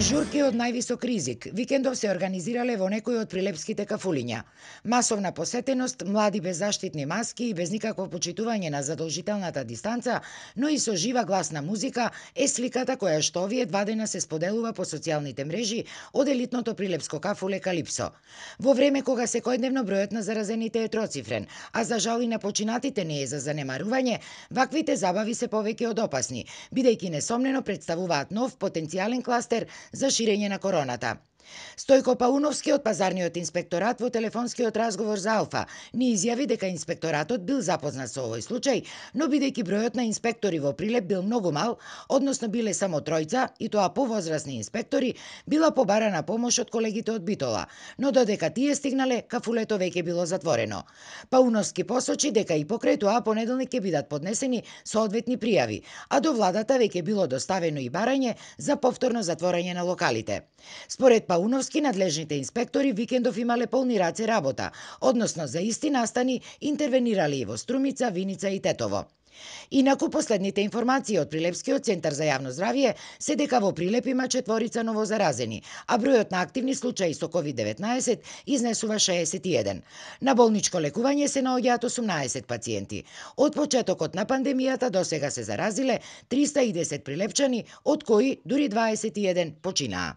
Журки од највисок ризик викендов се организирале во некои од прилепските кафулиња. Масовна посетеност, млади без заштитни маски и без никакво почитување на задолжителната дистанца, но и со жива гласна музика е сликата која што овие 2 дена се споделува по социјалните мрежи од елитното прилепско кафуле Калипсо. Во време кога секојдневно бројот на заразените е троцифрен, а за жал и на починатите не е за занемарување, ваквите забави се повеќе од опасни, бидејќи несомнено представуваат нов потенцијален кластер за ширење на короната. Стојко Пауновски од Пазарниот инспекторат во телефонскиот разговор за Алфа ни изјави дека инспекторатот бил запознат со овој случај, но бидејќи бројот на инспектори во Прилеп бил многу мал, односно биле само 3 и тоа повозрасни инспектори, била побарана помош од колегите од Битола, но додека тие стигнале, кафулето веќе било затворено. Пауновски посочи дека и покрај тоа понеделник ќе бидат поднесени соодветни пријави, а до владата веќе било доставено и барање за повторно затворање на локалите. Според Пауновски, надлежните инспектори викендов имале полни раце работа, односно за исти настани интервенирале и во Струмица, Виница и Тетово. Инаку последните информации од Прилепскиот центар за јавно здравје се дека во Прилеп има 4 новозаразени, а бројот на активни случаи со COVID-19 изнесува 61. На болничко лекување се наоѓаат 18 пациенти. Од почетокот на пандемијата до сега се заразиле 310 прилепчани, од кои дури 21 починаа.